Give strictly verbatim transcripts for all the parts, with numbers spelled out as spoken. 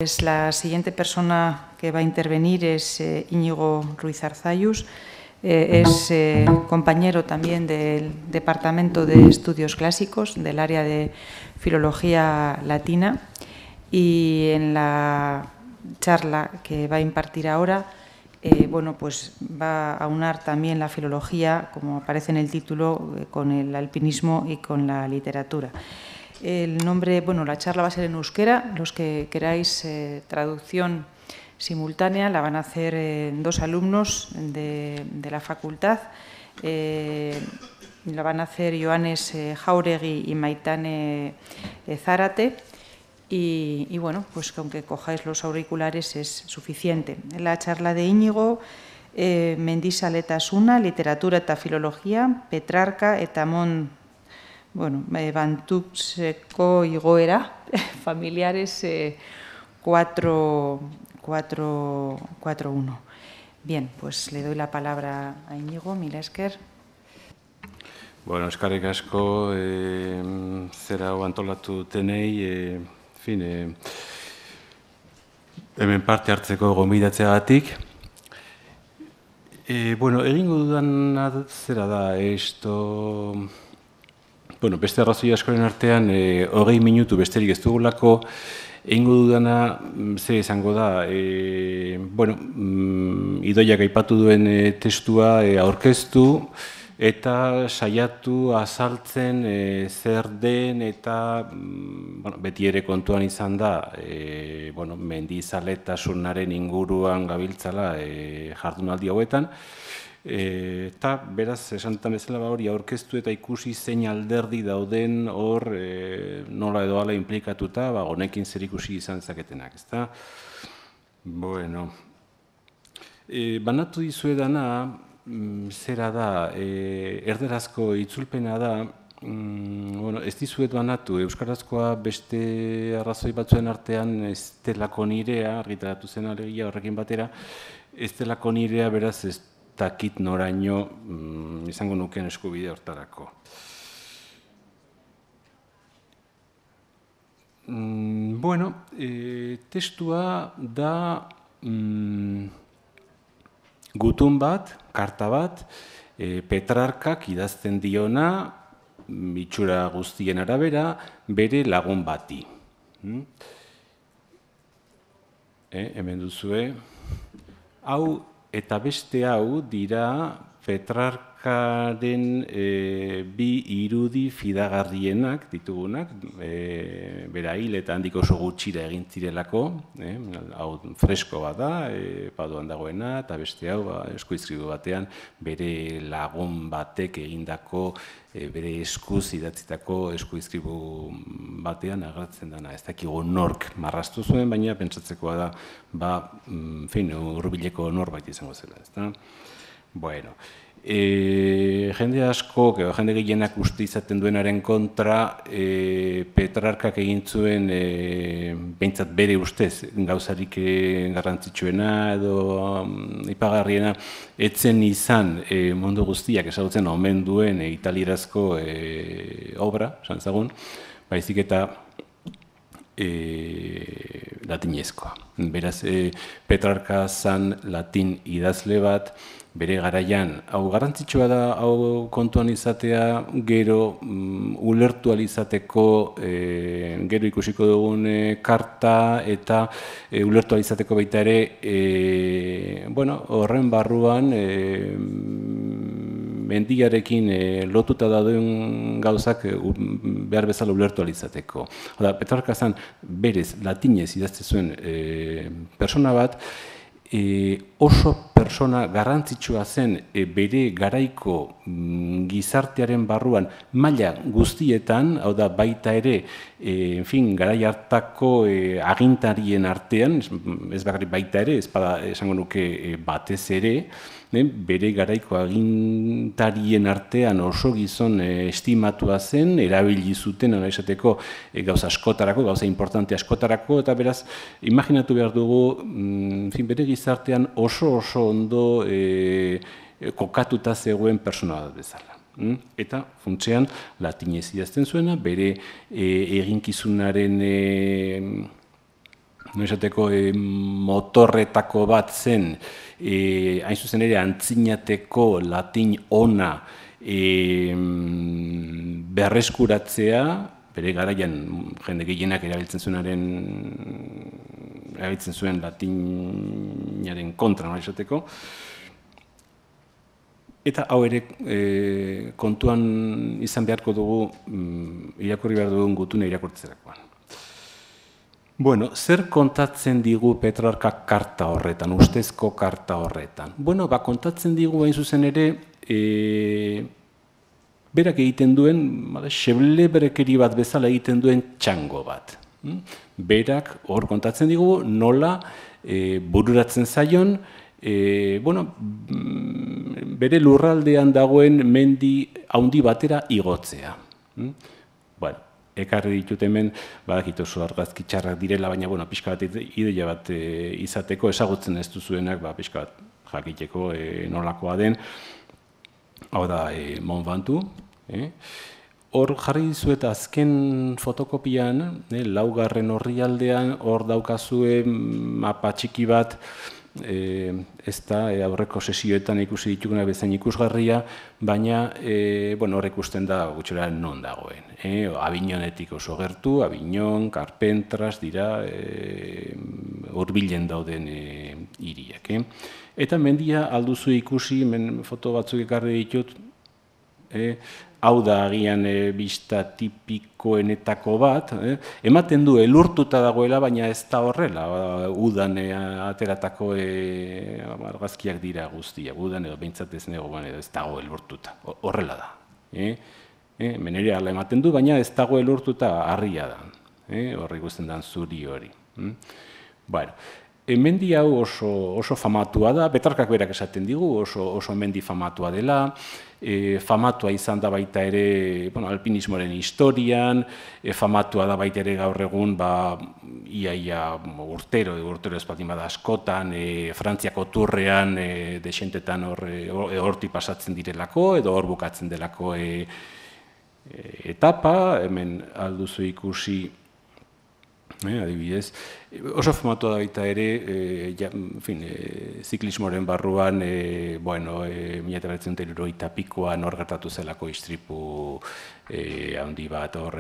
Pues la siguiente persona que va a intervenir es eh, Íñigo Ruiz Arzayus. Eh, es eh, compañero también del Departamento de Estudios Clásicos, del área de Filología Latina. Y en la charla que va a impartir ahora, eh, bueno, pues va a aunar también la filología, como aparece en el título, eh, con el alpinismo y con la literatura. El nombre, bueno, la charla va a ser en euskera. Los que queráis eh, traducción simultánea la van a hacer eh, dos alumnos de, de la facultad. Eh, la van a hacer Joanes eh, Jauregui y Maitane eh, Zárate. Y, y bueno, pues que aunque cojáis los auriculares es suficiente. La charla de Íñigo, eh, Mendizáletasuna, literatura eta filologia, Petrarca eta mon bueno, eh, Bantutzeko igoera, familiares eh, cuatro uno. Bien, pues le doy la palabra a Íñigo, mila esker. Bueno, eskarrik asko, eh, zera hau antolatu tenei, eh, fin, eh, hemen parte hartzeko gonbidatzeagatik. Eh, bueno, egingo dudana zera da, esto... Bueno, beste arrazoi askoren artean, eh, hogei minutu besterik ez dugulako, egingo dudana, zer izango da, e, bueno, mm, Idoiak aipatu duen e, testua e, aurkeztu, eta saiatu azaltzen e, zer den eta mm, bueno, beti ere kontuan izan da, e, bueno, mendizaletasunaren inguruan gabiltzala e, jardunaldi hauetan, E, eta beraz, esan dutan bezala hori aurkeztu eta ikusi zein alderdi dauden hor e, nola edo ala implikatuta, ba, honekin zer ikusi izan zaketenak, ezta? Bueno, e, banatu dizuedana, mm, zera da, e, erderazko itzulpena da, mm, bueno, ez dizuet banatu, euskarazkoa beste arrazoi batzuen artean ez delako nirea, argitaratu zen alegia horrekin batera, ez delako nirea beraz ez takit noraino mm, izango nuken eskubide hortarako. Mm, bueno, e, testua da mm, gutun bat, karta bat, e, Petrarkak idazten diona, itxura guztien arabera, bere lagun bati. Mm? E, hemen duzue, hau eta beste hau dira Petrarkaren e, bi irudi fidagarrienak ditugunak, e, bera hil eta handik oso gutxira egin zirelako, e, hau fresko bat da, e, paduan dagoena, eta beste hau ba, eskuizkribu batean bere lagun batek egindako, e, bere eskuz idatzitako eskuizkribu batean agertzen dena. Ez dakigu nork marraztu zuen, baina pentsatzekoa da, ba, fin, hurbileko norbait izango zela, ezta? Bueno, e, jende asko, jende gehienak uste izaten duenaren kontra, e, Petrarkak egin zuen, e, behintzat bere ustez, gauzarik garrantzitsuena edo um, ipagarriena, etzen izan e, mundu guztiak ezagutzen omen duen e, italierazko e, obra, esan zagun, baizik eta e, latinezkoa. Beraz, e, Petrarka zan latin idazle bat, bere garaian, hau garrantzitsua da, hau kontuan izatea, gero um, ulertu alizateko, e, gero ikusiko dugun e, karta eta e, ulertu alizateko baita ere, e, bueno, horren barruan, e, mendiarekin e, lotuta dauden gauzak e, behar bezala ulertu alizateko. Oda, Petrarka zan berez latinez idazte zuen e, persona bat, E, oso persona garrantzitsua zen e, bere garaiko mm, gizartearen barruan maila guztietan, hau da baita ere, e, en fin, garai hartako e, agintarien artean, ez, ez bakarrik baita ere, ez bada esango nuke e, batez ere, e, bere garaiko agintarien artean oso gizon e, estimatua zen, erabili zuten, hona esateko, e, gauza askotarako, gauza importante askotarako, eta beraz, imaginatu behar dugu, mm, en fin, bere gizartean oso oso ondo e, kokatuta zegoen persona bat bezala. Eta funtsean latinez idazten zuena, bere e, eginkizunaren e, noizateko motorretako bat zen, hain zuzen ere antzinateko latin ona berreskuratzea, bere garaian jende gehienak erabiltzen zuenaren erabiltzen zuen latinaren kontra, noizateko. Eta hau ere kontuan izan beharko dugu, irakurri behar dugun gutune irakurtzerakoan. Bueno, zer kontatzen digu Petrarkak karta horretan, ustezko karta horretan? Bueno, ba, kontatzen digu hain zuzen ere, berak egiten duen, xebleberekeri bat bezala egiten duen txango bat. Berak hor kontatzen digu nola bururatzen zaion, bueno, bere lurraldean dagoen mendi handi batera igotzea. Bueno, ekarri ditut hemen, badakit oso argazki txarrak direla, baina, bueno, pixka bat ideia bat izateko, ezagutzen ez duzuenak, pixka bat jakiteko nolakoa den, hau da Mont Ventoux. Hor jarri dizuet azken fotokopian, laugarren orrialdean, hor daukazue mapa txiki bat, ez da aurreko sesioetan ikusi dituguna bezain ikusgarria, baina hor ikusten da gutxora non dagoen. Avignonetik oso gertu, Avignon, Carpentras dira hurbilen dauden hiriak. Eta mendia alduzu ikusi, hemen foto batzuk ekarri ditut, hau da agian bista tipikoenetako bat, ematen du elurtuta dagoela, baina ez da horrela, udan ateratako argazkiak dira guztiak, udan edo behintzat ez negoan edo ez dago elurtuta, horrela da. Menere ala ematen du, baina ez dago elurtuta harria da, horri guztien dan zuri hori. Bueno, mendi hau oso famatua da, Petrarkak berak esaten digu, oso mendi famatua dela, famatua izan da baita ere alpinismoaren historian, famatua da baita ere gaur egun iaia urtero, urtero ez baldin bada askotan, Frantziako turrean desentetan horti pasatzen direlako, edo hor bukatzen delako etapa, hemen alduzu ikusi, adibidez, oso famatua da baita ere, ziklismoaren barruan, bueno, mila bederatziehun eta hirurogeita pikoan hor gertatu zelako istripu handi bat, hor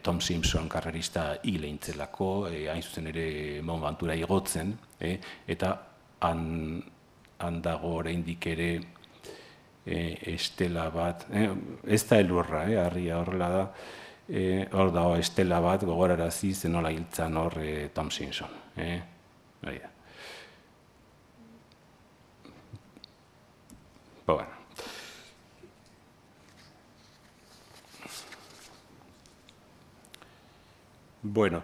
Tom Simpson karrerista hil egin zelako, hain zuzen ere Mont Ventoura igotzen, eta han dago oraindik ere estela bat, ez da elurra, harria horrela da, hor dago estela bat gogorarazi zenola hiltzan hor Tom Simpson. Bueno. Bueno,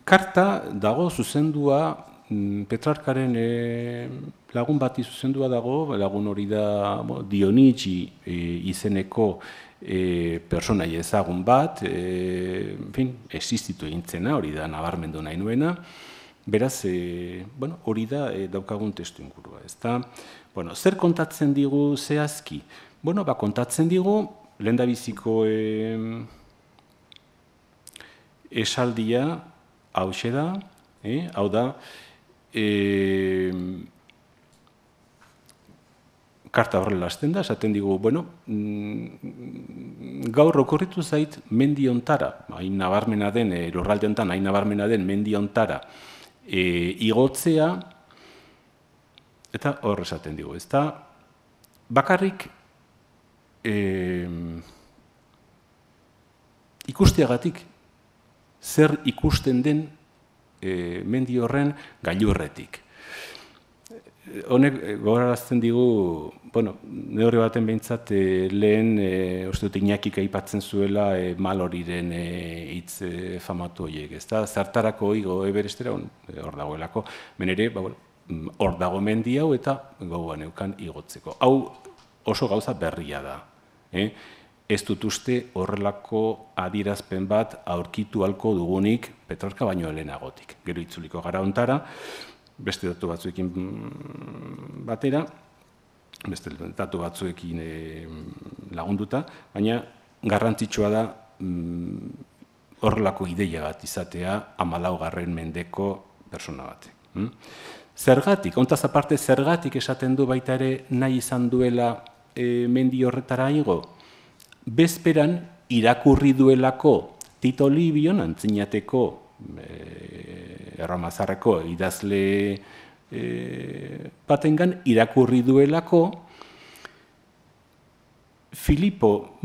karta dago zuzendua, Petrarkaren lagun bati zuzendua dago, lagun hori da Dionigi izeneko personai ezagun bat, existitu egintzena, hori da nabarmendu nahi nuena, beraz, hori da daukagun testu ingurua. Zer kontatzen digu zehazki? Bueno, kontatzen digu, lehendabiziko esaldia hauxe da, hau da, karta horrela hasten da, esaten digu, bueno, gaur okurritu zait mendi hontara, hain nabarmena den, lurralde hontan hain nabarmena den mendi hontara igotzea, eta hor esaten digu, ez da, bakarrik ikusteagatik zer ikusten den mendi horren gailurretik. Honek gogorarazten digu, bueno, neurri baten behintzat lehen, uste dut Iñakik aipatzen zuela Malloryren hitz famatu horiek, ez da, zartarako igo Everestera hor dagoelako, menere, hor dago mendi hau eta gogoan eukan igotzeko. Hau oso gauza berria da. Ez dut uste horrelako adierazpen bat aurkitu halko dugunik Petrarka baino lehenagotik. Gero itzuliko gara hontara, beste datu batzuekin batera, beste datu batzuekin lagunduta, baina garrantzitsua da horrelako ideia bat izatea hamalaugarren mendeko persona batek. Zergatik, ontaz aparte, zergatik esaten du baita ere nahi izan duela mendi horretara igo? Bezperan irakurri duelako Tito Libion, antzinateko erramazarreko idazle batengan, irakurri duelako Filipo,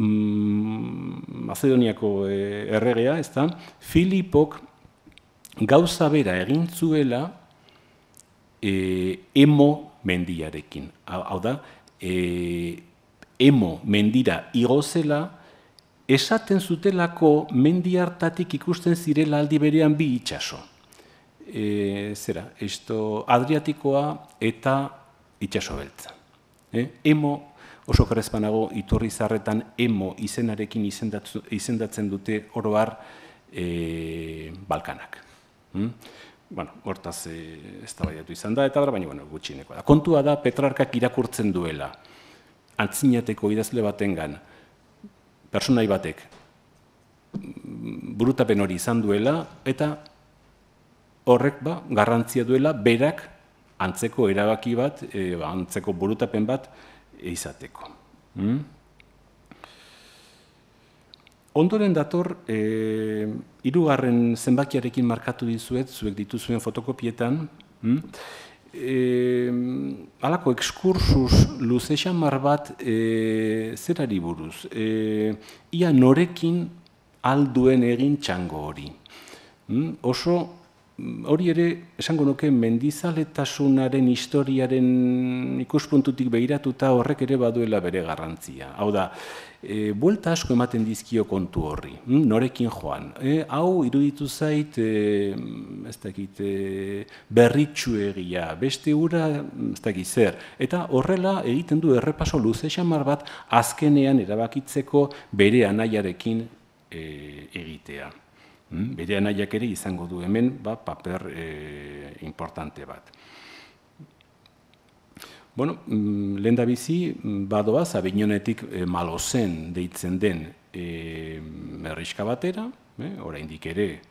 Mazedoniako erregea, ez da, Filipok gauza bera egin zuela Emo mendiarekin. Hau da, Emo mendira igozela, esaten zutelako mendi hartatik ikusten zirela aldi berean bi itsaso. Zera, Adriatikoa eta itsaso beltza. Emo, oso karezpanago Iturrizarretan Emo izenarekin izendatzen dute oro har Balkanak. Bueno, hortaz eztabaidatu izan da, eta baina gutxieneko da. Kontua da, Petrarkak irakurtzen duela, antzinateko idazle batengan, personai batek burutapen hori izan duela, eta horrek garrantzia duela berak antzeko erabaki bat, antzeko burutapen bat izateko. Ondoren dator, hirugarren zenbakiarekin markatu dizuet, zuek dituzuen fotokopietan, halako ekskursus luze xamar bat zerari buruz, ia norekin alduen egin txango hori. Oso, hori ere, esango nuke, mendizaletasunaren historiaren ikuspuntutik behiratuta horrek ere baduela bere garrantzia. Hau da, buelta asko ematen dizkio kontu horri, norekin joan. Hau iruditu zait, ez dakit, berritxuegia, beste ura, ez dakit zer. Eta horrela egiten du errepaso luze xamar bat azkenean erabakitzeko bere anaiarekin egitea. Bere anaiak ere izango du hemen paper importante bat. Bueno, lehendabizi badoaz, Abignonetik Malozen deitzen den herrixka batera, oraindik ere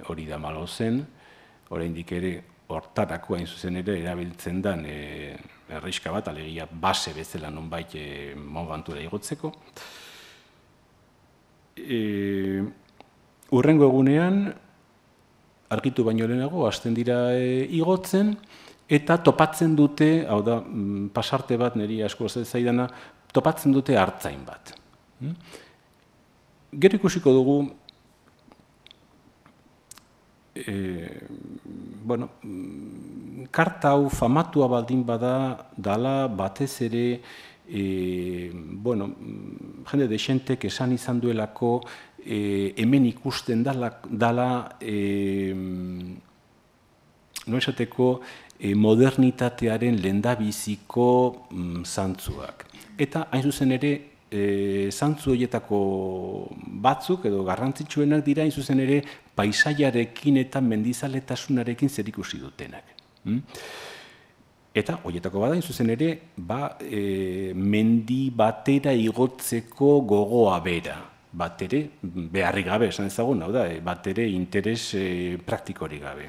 hori da Malozen, oraindik ere hortarako hain zuzen ere erabiltzen den herrixka bat, alegia base bezala nonbait Mont Ventura igotzeko. Hurrengo egunean, argitu baino lehenago, hasten dira igotzen, eta topatzen dute, hau da, pasarte bat, niri asko zaidana, topatzen dute artzain bat. Gero ikusiko dugu, bueno, karta hau famatua baldin bada, dala batez ere, bueno, jende dexentek esan izan duelako, hemen ikusten dala, no esateko, modernitatearen lehendabiziko zantzuak. Eta hain zuzen ere, zantzu horietako batzuk edo garrantzitsuenak dira hain zuzen ere paisaiarekin eta mendizaletasuna,rekin zerikusi dutenak. Eta horietako bada hain zuzen ere, mendi batera igotzeko gogoa bera. Bat ere, beharrik gabe, esan ezagun, hau da, bat ere interes praktikorik gabe.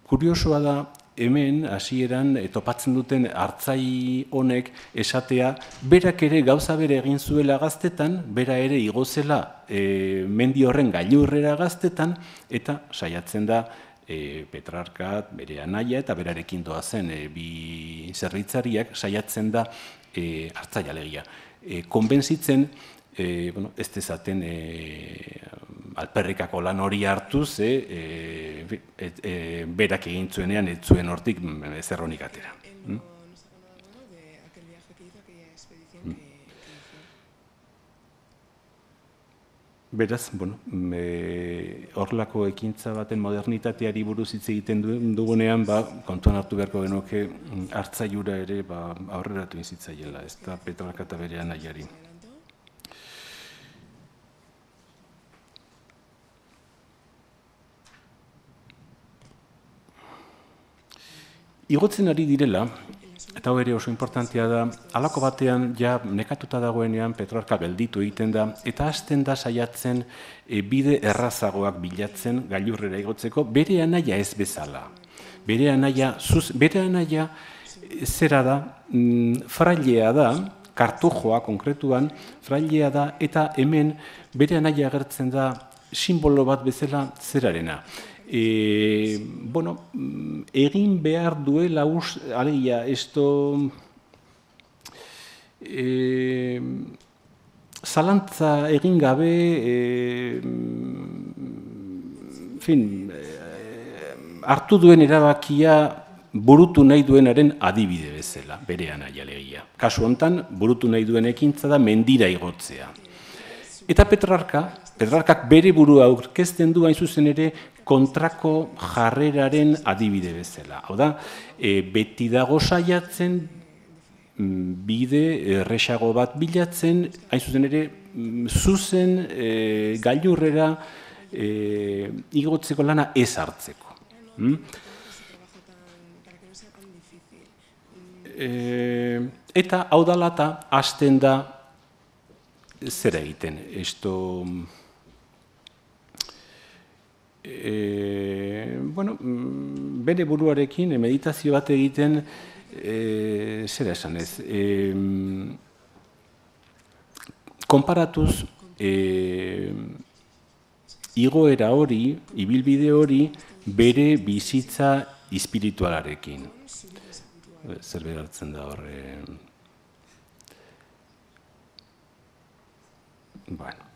Kuriosoa da, hemen, hasieran topatzen duten artzai honek esatea, berak ere gauza bere egin zuela gaztetan, bera ere igozela mendi horren gailurrera gaztetan, eta saiatzen da Petrarka, bere anaia eta berarekin doazen bi zerbitzariak, saiatzen da artzai alegia. Konbentzitzen, ez dezaten alperrikako lan hori hartuz, berak egin zuenean ez zuen hortik zerronik atera. Beraz, horrelako ekintza baten modernitateari buruz hitz egiten dugunean, kontuan hartu beharko genuke hartzaiura ere aurreratu inzitzaiela, ez da Petrarka eta bere anaiari. Igotzen ari direla, eta eta hori oso importantea da, halako batean ja nekatuta dagoenean Petrarka gelditu egiten da, eta hasten da saiatzen bide errazagoak bilatzen gailurrera igotzeko, bere anaia ez bezala. Bere anaia, bere anaia zera da, frailea da, kartujoa konkretuan, frailea da, eta hemen bere anaia agertzen da simbolo bat bezala zerarena. E, bueno, egin behar duela us, alegia, esto e, zalantza egin gabe, e, fin, e, hartu duen erabakia burutu nahi duenaren adibide bezala, bere anaia alegia. Kasu hontan, burutu nahi duen ekintza da mendira igotzea. Eta Petrarka, Petrarkak bere burua aurkezten du hain zuzen ere kontrako jarreraren adibide bezala. Hau da, e, beti dago saiatzen bide erresago bat bilatzen, hain zuzen ere zuzen e, gailurrera e, igotzeko lana ez hartzeko. Hmm? E, eta hau dela eta hasten da zer egiten, esto, e, bueno, bere buruarekin meditazio bat egiten, e, zera esan ez, e, konparatuz, e, igoera hori, ibilbide hori, bere bizitza espiritualarekin. Zer behartzen da horre... Bueno.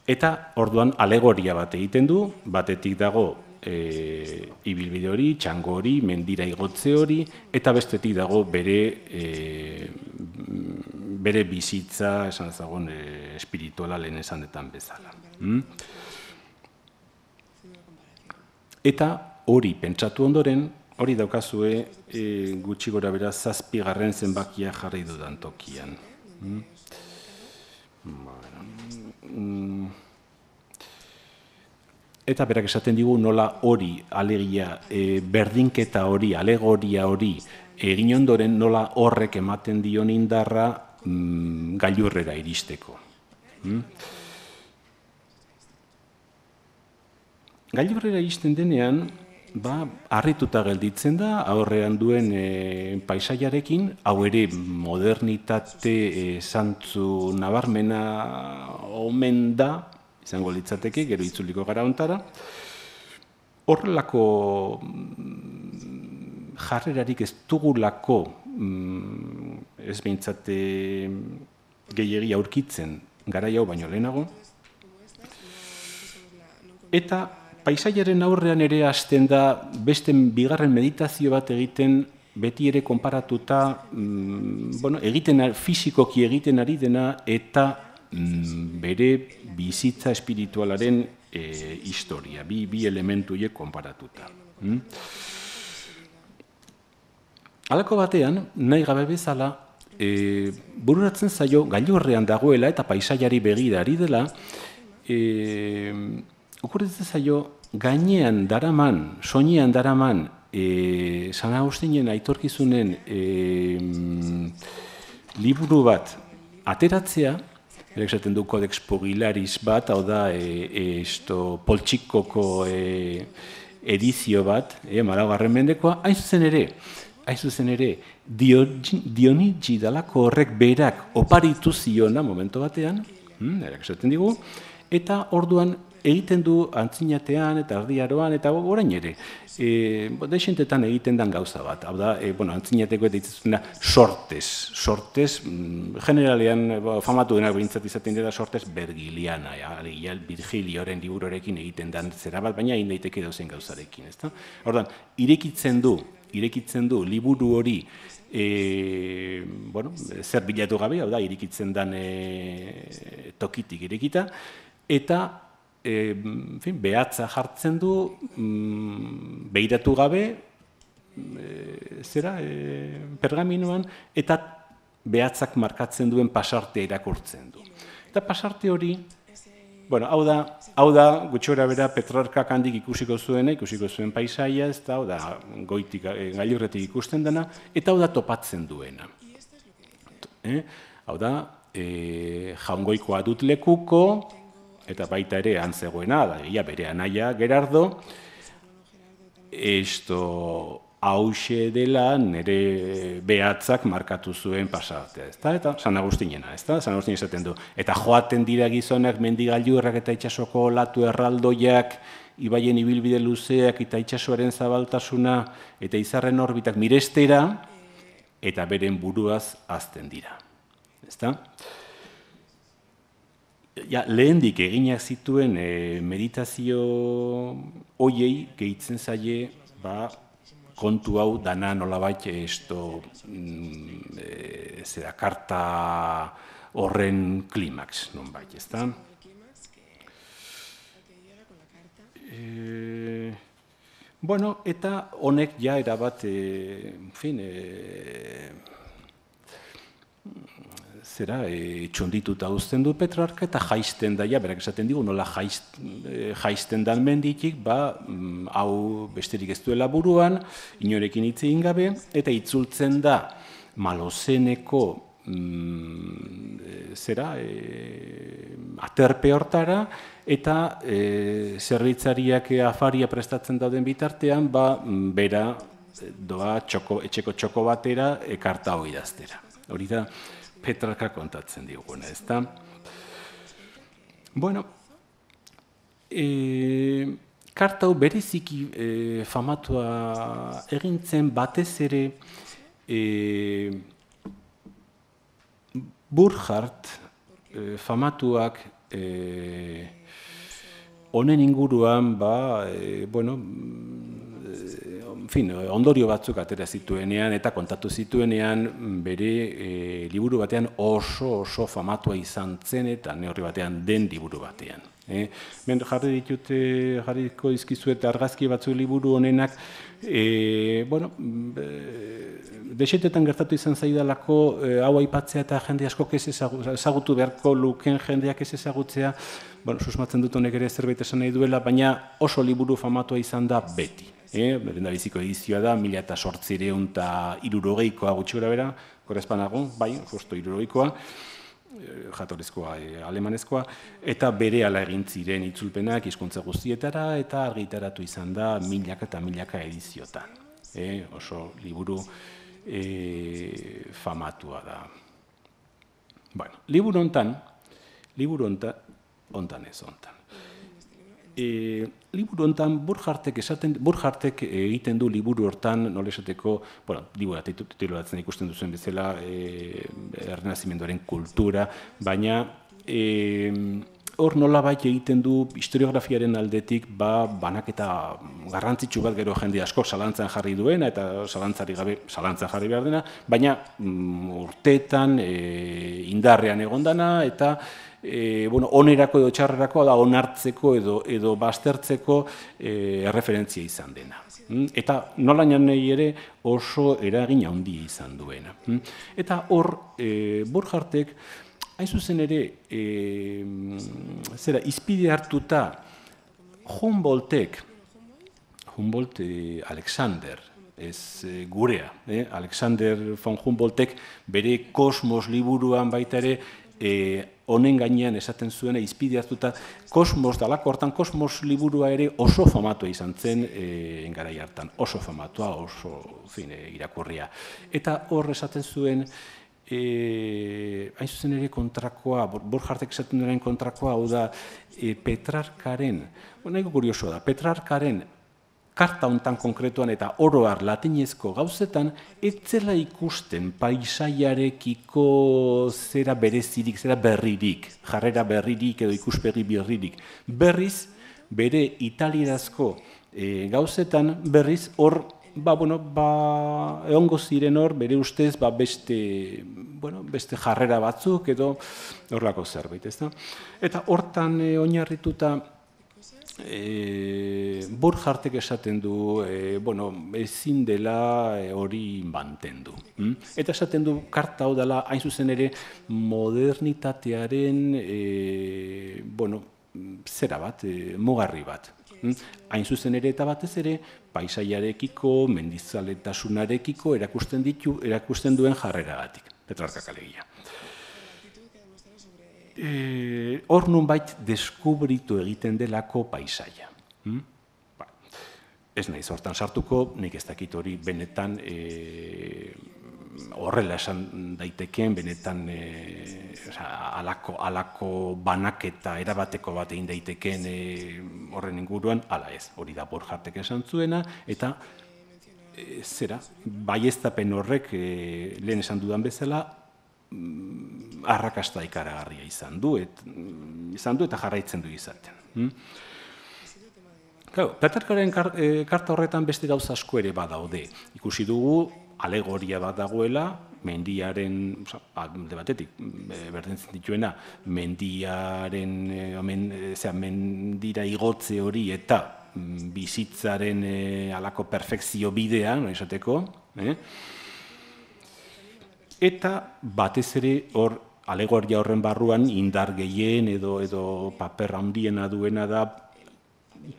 Eta orduan alegoria bat egiten du, batetik dago e, ibilbide hori, txango hori, mendira igotze hori, eta bestetik dago bere, e, bere bizitza, esan ezagun, e, espirituala lehen esanetan bezala. Hmm? Eta hori pentsatu ondoren, hori daukazue e, gutxi gora bera zazpigarren zenbakia jarri dudan tokian. Hmm? Bueno. Eta berak esaten digu nola hori, alegia, e, berdinketa hori, alegoria hori, egin ondoren nola horrek ematen dion indarra mm, gailurrera iristeko. Hmm? Gailurrera iristen denean, ba, harrituta gelditzen da, aurrean duen e, paisaiarekin, hau ere modernitate e, zantzu nabarmena omen da, izango litzateke, gero itzuliko gara ontara. Horrelako jarrerarik ez dugulako, ez behintzate gehiegi aurkitzen garai hau baino lehenago. Eta paisaiaren aurrean ere hasten da beste bigarren meditazio bat egiten, beti ere konparatuta, bueno, egiten, fisikoki egiten ari dena eta bere bizitza espiritualaren e, historia, bi, bi elementu horiek konparatuta. Hmm? Halako batean, nahi gabe bezala, e, bururatzen zaio gailurrean dagoela eta paisaiari begira ari dela, e, okurritzen zaio gainean daraman, soinean daraman, e, San Agustinen aitorkizunen e, liburu bat ateratzea, esaten du Codex Pugilaris bat, hau da, e, esto, poltsikoko e, edizio bat, e, malaugarren mendekoa, hain zuzen ere, hain zuzen ere, Dionigi dalako horrek berak oparitu ziona momentu batean, hmm, esaten digu, eta orduan egiten du antzinatean eta erdiaroan eta orain ere. E, Deixentetan egiten den gauza bat. Hau da, e, bueno, antzinateko eta itzazuna sortez. Sortez, generalean famatu denak behintzat izaten dira sortez Bergiliana, ja, Virgilioren liburuarekin egiten den zera bat, baina egin daiteke dauzen gauzarekin. Ezta? Orduan, irekitzen du, irekitzen du liburu hori e, bueno, zer bilatu gabe, hau da, irekitzen den e, tokitik irekita, eta E, en fin, behatza jartzen du, mm, behiratu gabe, e, zera, e, pergaminoan, eta behatzak markatzen duen pasartea irakurtzen du. Eta pasarte hori, Bueno, hau da, hau da, gutxora bera, Petrarkak handik ikusiko zuena, ikusiko zuen paisaia, ez da, hau da, goitik, gailurretik ikusten dena, eta hau da topatzen duena. Eh? Hau da, e, jaungoikoa dut lekuko, eta baita ere antzegoena, da, ia bere anaia Gerardo, esto hause dela nire behatzak markatu zuen pasatea, ezta? Eta San Agustinena, ezta? San Agustin esaten du. Eta joaten dira gizonak mendigailurrak eta itsasoko olatu erraldoiak, ibaien ibilbide luzeak eta itsasoaren zabaltasuna eta izarren orbitak mirestera, eta beren buruaz hazten dira. Ezta? Ja, lehendik eginak zituen e, meditazio hoiei gehitzen zaie, ba, kontu hau dana nolabait esto e, zera karta horren klimaks, nonbait, ezta? E, bueno, eta honek ja erabat, e, en fin, e, zera, e, txondituta uzten du Petrarka eta jaisten da, ja, berak esaten digu, nola jaist, e, jaisten dan menditik, ba, m, hau besterik ez duela buruan, inorekin hitz egin gabe, eta itzultzen da Malozeneko mm, zera, e, aterpe hortara, eta e, zerbitzariak afaria prestatzen dauden bitartean, ba, bera doa txoko, etxeko txoko batera ekarta hori idaztera. Hori da, Petrarka kontatzen diguna, ezta? Bueno, e, karta hau bereziki e, famatua egintzen batez ere e, Burckhardt e, famatuak e, honen inguruan, ba, e, bueno, en fin, ondorio batzuk atera zituenean eta kontatu zituenean bere e, liburu batean oso oso famatua izan zen eta neurri batean den liburu batean. Eh? Ben jarri ditut, jarriko dizkizuet argazki batzu liburu honenak, e, bueno, e, desetetan gertatu izan zaidalako e, hau aipatzea eta jende asko ez ezagutu beharko luken jendeak ez ezagutzea, bueno, susmatzen dut honek ere zerbait esan nahi duela, baina oso liburu famatua izan da beti. Eh, Lehendabiziko edizioa da, mila eta sortzireun eta hirurogeikoa gutxi gora bera, korrespanago, bai, justo hirurogeikoa, jatorrizkoa, e, alemanezkoa, eta bere ala egin ziren itzulpenak hizkuntza guztietara, eta argitaratu izan da milaka eta milaka ediziotan. Eh, oso liburu e, famatua da. Bueno, liburu hontan, liburu hontan, hontan ez hontan. E, liburu hontan Burckhartek esaten Burckhartek egiten du liburu hortan, nola esateko, bueno, liburu titulatzen ikusten duzuen bezala, e, Errenazimenduaren kultura, baina e, hor nolabait egiten du historiografiaren aldetik, ba, banaketa garrantzitsu bat gero jende asko zalantzan jarri duena eta zalantzari gabe zalantzan jarri behar dena, baina mm, urteetan e, indarrean egondana eta E, bueno, onerako edo txarrerako da onartzeko edo, edo baztertzeko e, erreferentzia izan dena. Mm? Eta nola nahi ere oso eragin handia izan duena. Mm? Eta hor, e, Burckhartek, hain zuzen ere, e, zera, izpide hartuta Humboldtek, Humboldt e, Alexander, ez e, gurea, eh? Alexander von Humboldtek bere Kosmos liburuan baita ere, e, honen gainean esaten zuena izpide hartuta Kosmos dalako hortan, Kosmos liburua ere oso famatua izan zen e, garai hartan, oso famatua, oso fine, irakurria. Eta hor esaten zuen, e, hain zuzen ere kontrakoa, Burckhartek esaten duenen kontrakoa, hau da, e, Petrarkaren, nahiko kurioso da, Petrarkaren karta hontan konkretuan eta oroar latinezko gauzetan, ez zela ikusten paisaiarekiko zera berezirik, zera berririk, jarrera berririk edo ikuspegi berririk. Berriz, bere italierazko e, gauzetan, berriz, hor, ba, bueno, ba, egongo ziren hor, bere ustez, ba, beste, bueno, beste jarrera batzuk edo horrelako zerbait, ezta? Eta hortan e, oinarrituta, E, Burckhartek esaten du, e, bueno, ezin dela hori mantendu. Mm? Eta esaten du, karta hau dela, hain zuzen ere, modernitatearen, e, bueno, zera bat, mugarri bat. Hain zuzen ere eta batez ere, paisaiarekiko, mendizaletasunarekiko erakusten ditu, erakusten duen jarreragatik, Petrarkak alegia. Hor nunbait deskubritu egiten delako paisaia. Ez naiz hortan sartuko, nik ez dakit hori benetan horrela esan daitekeen, benetan halako banaketa erabateko bat egin daitekeen horren inguruan, hala ez, hori da Borjartek esan zuena, eta zera, baieztapen horrek lehen esan dudan bezala, arrakasta ikaragarria izan du, izan du eta jarraitzen du izaten. Petrarkaren karta horretan beste gauza asko ere badaude. Ikusi dugu, alegoria bat dagoela, mendiaren, alde batetik, berdintzen dituena, mendiaren, mendira igotze hori eta bizitzaren halako perfekzio bidea, no esateko, eta batez ere hor, alegoria horren barruan, indar gehien edo paper handiena duena da,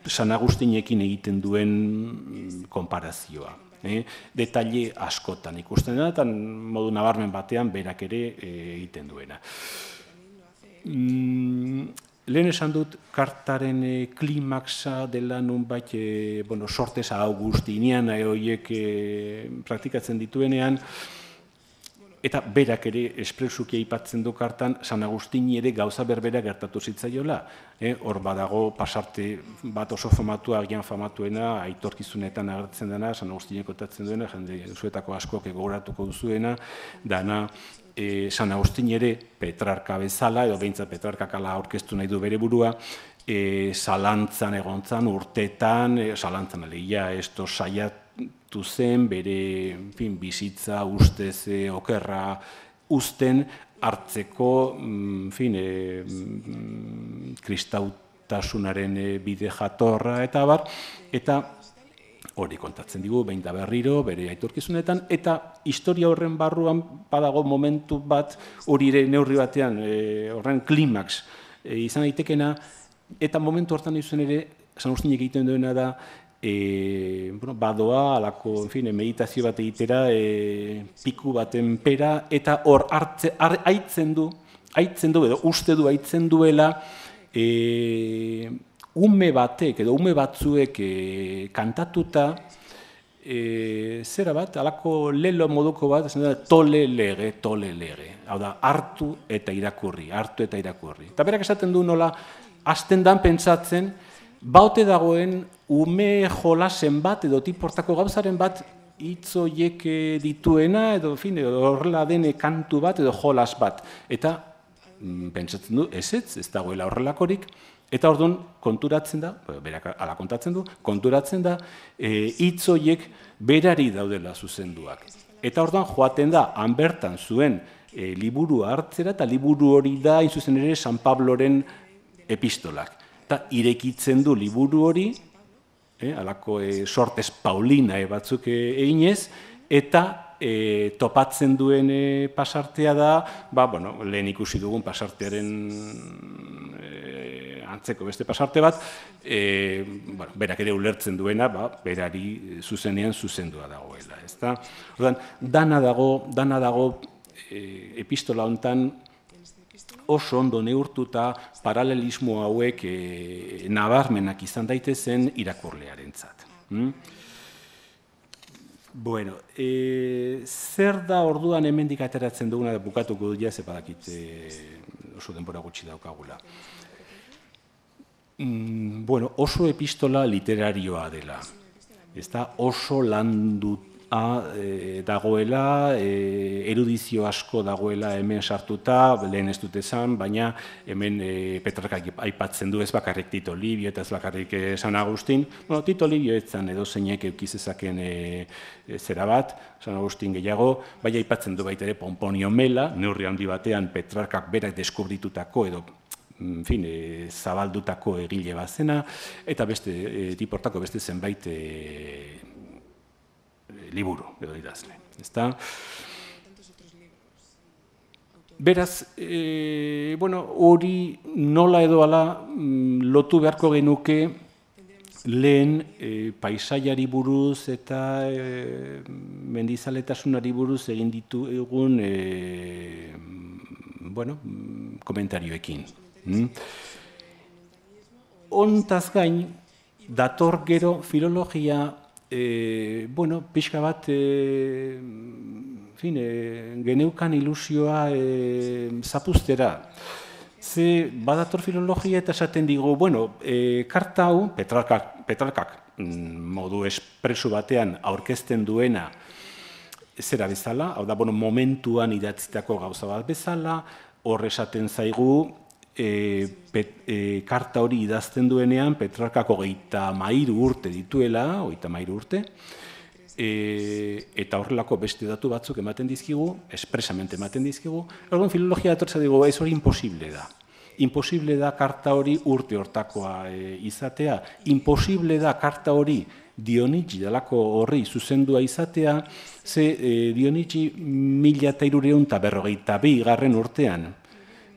San Agustinekin egiten duen konparazioa. Detaile askotan ikusten da, eta modu nabarmen batean berak ere egiten duena. Lehen esan dut, kartaren klimaxa dela nunbait sortez Augustiniana horiek praktikatzen dituenean, eta berak ere espresuki aipatzen du kartan, San Agustini ere gauza berbera gertatu zitzaiola. Hor badago pasarte bat oso famatua, agian famatuena, aitorkizunetan agertzen dena, San Agustinek kontatzen duena, jende zuetako askoak gogoratuko duzuena, dana San Agustini ere Petrarka bezala, edo behintzat Petrarkak ala aurkeztu nahi du bere burua, zalantzan egontzan, urtetan, zalantzan alegia, esto saiatu zen, bere bizitza ustez okerra uzten, hartzeko kristautasunaren bide jatorra eta abar, eta hori kontatzen digu, behin da berriro, bere aitorkizunetan, eta historia horren barruan badago momentu bat, hori ere neurri batean, horren klimaks izan daitekena, eta momentu hortan izan ere, San Agustinek egiten duena da, badoa, alako meditazio bat egitera, piku baten pera, eta hor haitzen du, haitzen du, edo uste du haitzen duela, ume batek, edo ume batzuek kantatuta, zera bat, alako lelo moduko bat, tole lege, tole lege. Hau da, hartu eta irakurri, hartu eta irakurri. Eta berak esaten du nola, hasten dan pentsatzen, baute dagoen ume jolasen bat edo tiportako gauzaren bat hitzoiek dituena edo horrela dene kantu bat edo jolas bat. Eta pentsatzen du, ez ez, ez dagoela horrelakorik, eta orduan konturatzen da, berak ala kontatzen du, konturatzen da hitzoiek berari daudela zuzenduak. Eta orduan joaten da, han bertan zuen liburua hartzera, eta liburu hori da, hain zuzen ere, San Pabloren epistolak. Eta irekitzen du liburu hori, halako sortez Paulina batzuk eginez, eta topatzen duen pasartea da, lehen ikusi dugun pasartearen antzeko beste pasarte bat, berak ere ulertzen duena, berari zuzenean zuzendua dagoela. Dana dago, dana dago epistola honetan, oso ondo neurtuta paralelismo hauek nabarmenak izan daitezen irakurlearentzat. Bueno, zer da orduan hemendik ateratzen duguna bukatuko dut jaz, badakit oso denbora gutxi daukagula. Bueno, oso epistola literarioa dela. Oso landuta dagoela, erudizio asko dagoela hemen sartuta, lehen ez dut esan, baina hemen Petrarkak aipatzen du ez bakarrik Tito Livio eta ez bakarrik San Agustin. Bueno, Tito Livio etzan edo zeinek eukizezaken zera bat, San Agustin gehiago, bai aipatzen du baita ere Pomponio Mela, neurri handi batean Petrarkak berak deskubritutako edo zabaldutako egile bat zena, eta beste tiportako beste zenbait liburu edo idazle. Beraz, e, bueno, hori nola edo ala lotu beharko genuke lehen e, paisaiari buruz eta e, mendizaletasunari buruz egin ditu egun e, bueno, komentarioekin. Mm? Hontaz gain, dator gero filologia, e, bueno, pixka bat, e, fin, e, geneukan ilusioa e, zapuztera. Ze badator filologia eta esaten digu, bueno, e, karta hau, Petrarkak, Petrarkak modu espresu batean aurkezten duena zera bezala, hau da, bueno, momentuan idatzitako gauza bat bezala, hor esaten zaigu, e, pet, e, karta hori idazten duenean Petrarkak hogeita hamairu urte dituela, hogeita hamairu urte, e, eta horrelako beste datu batzuk ematen dizkigu, espresamente ematen dizkigu, orduan filologia datortza digu, ez hori imposible da. Imposible da karta hori urte hortakoa e, izatea, imposible da karta hori Dionigi dalako horri zuzendua izatea, ze e, Dionigi mila eta hirureun eta berrogeita bi garren urtean,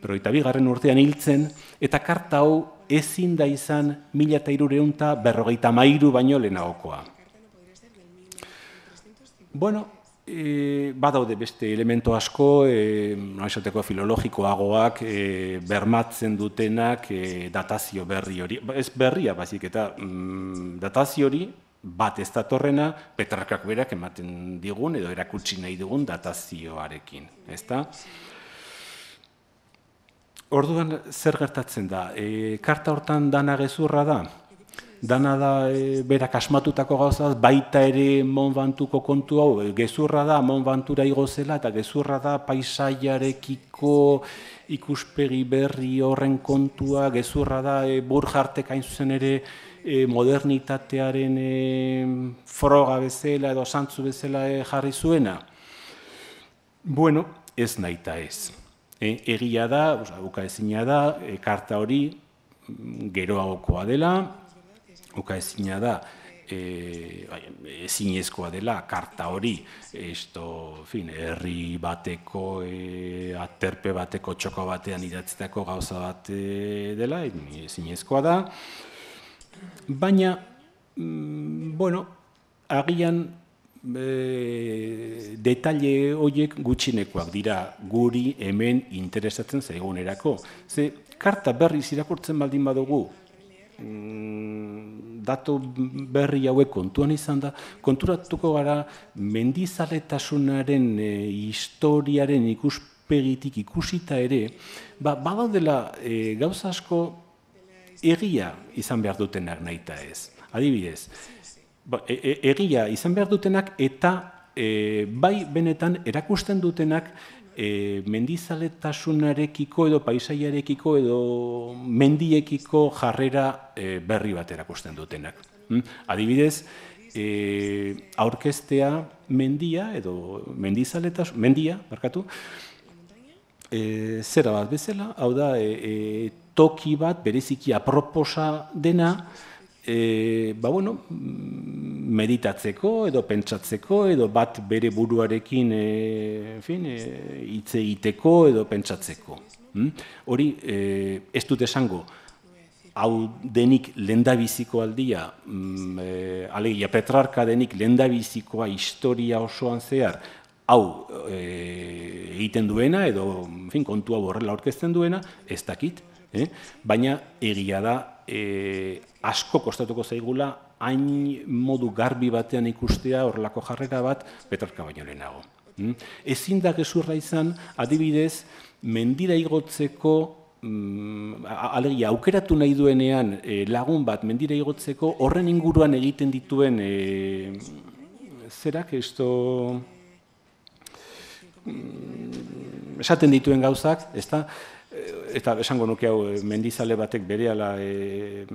berrogeita bi garren urtean hiltzen, eta karta hau ezin da izan mila eta hirureun eta berrogeita hamairu baino lehenagokoa. Bueno, e, badaude beste elemento asko, e, esateko filologikoagoak, e, bermatzen dutenak e, datazio berri hori, ez berria bazik eta mm, datazio hori bat ez datorrena Petrarkak berak ematen digun edo erakutsi nahi dugun datazioarekin, ezta? Orduan zer gertatzen da? E, karta hortan dana gezurra da? Dana da e, berak asmatutako gauzaz, baita ere Mont Ventoux kontu hau, gezurra da Mont Ventoura igo zela, eta gezurra da paisaiarekiko ikuspegi berri horren kontua, gezurra da e, Burgartek hain zuzen ere e, modernitatearen e, froga bezala edo santzu bezala e, jarri zuena. Bueno, ez nahita ez. E, egia da, ukaezina da, e, karta hori geroagokoa dela, ukaezina da, e, ezinezkoa dela, karta hori, esto, fin, herri bateko, e, aterpe bateko, txoko batean idatzitako gauza bat e, dela, ezinezkoa da, baina, mm, bueno, agian, E, detaile horiek gutxinekoak dira guri hemen interesatzen zaigunerako. Ze, karta berriz irakurtzen baldin badugu, mm, datu berri hauek kontuan izan da, konturatuko gara mendizaletasunaren e, historiaren ikuspegitik ikusita ere, ba, badaudela e, gauza asko egia izan behar dutenak nahita ez. Adibidez, E, e, egia izan behar dutenak eta e, bai benetan erakusten dutenak e, mendizaletasunarekiko edo paisaiarekiko edo mendiekiko jarrera e, berri bat erakusten dutenak. Mm? Adibidez, e, aurkeztea mendia edo mendizaletasun, mendia, barkatu, e, zera bat bezala, hau da, e, e, toki bat bereziki aproposa dena, E, ba, bueno, meditatzeko edo pentsatzeko edo bat bere buruarekin e, en fin, e, hitz egiteko edo pentsatzeko. Hmm? Hori e, ez dut esango, hau denik lehendabiziko aldia, mm, e, alegia Petrarka denik lehendabizikoa historia osoan zehar, hau e, egiten duena edo en fin, kontu hau horrela aurkezten duena, ez dakit, eh? Baina egia da, E, asko kostatuko zaigula hain modu garbi batean ikustea horrelako jarrera bat Petrarka baino lehenago. Mm? Ezin da gezurra izan, adibidez, mendira igotzeko, mm, alegia, aukeratu nahi duenean e, lagun bat mendira igotzeko horren inguruan egiten dituen e, zerak, esto, mm, esaten dituen gauzak, ez da? Eta esango nuke hau mendizale batek berehala e,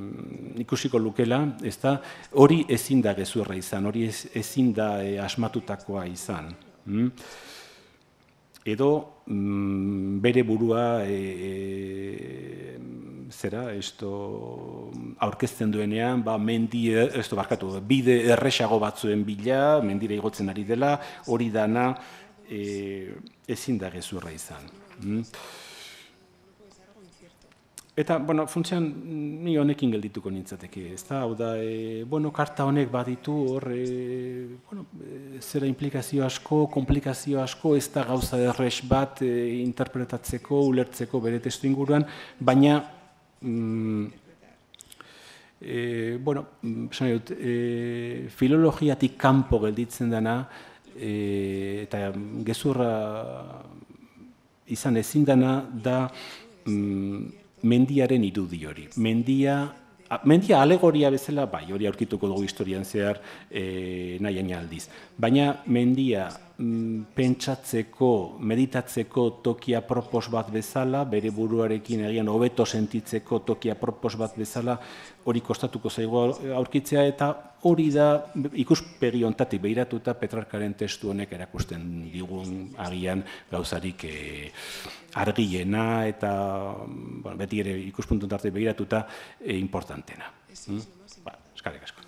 ikusiko lukela, ezta hori ezin da gezurra izan, hori ez, ezin da e, asmatutakoa izan. Mm? Edo mm, bere burua e, e, zera, esto, aurkezten duenean, ba, mendi, esto, barkatu, bide erresago batzuen bila, mendira igotzen ari dela, hori dana e, ezin da gezurra izan. Eta, bueno, funtsean, ni honekin geldituko nintzateke, ez da, hau da, e, bueno, karta honek baditu hor, e, bueno, e, zera implikazio asko, komplikazio asko, ez da gauza erres bat e, interpretatzeko, ulertzeko bere testu inguruan, baina, mm, e, bueno, esan dut, e, filologiatik kanpo gelditzen dena, e, eta gezurra izan ezin dena da, mm, mendiaren irudi hori. Mendia, mendia alegoria bezala, bai, hori aurkituko dugu historian zehar e, nahi aldiz. Baina mendia mm, pentsatzeko, meditatzeko tokia propos bat bezala, bere buruarekin egian hobeto sentitzeko tokia propos bat bezala, hori kostatuko zaigu aurkitzea, eta hori da ikuspegi hontatik behiratuta Petrarkaren testu honek erakusten digun agian gauzarik e, argiena eta bueno, beti ere ikuspuntu hontatik behiratuta e, importantena. Mm? Ba, eskerrik asko.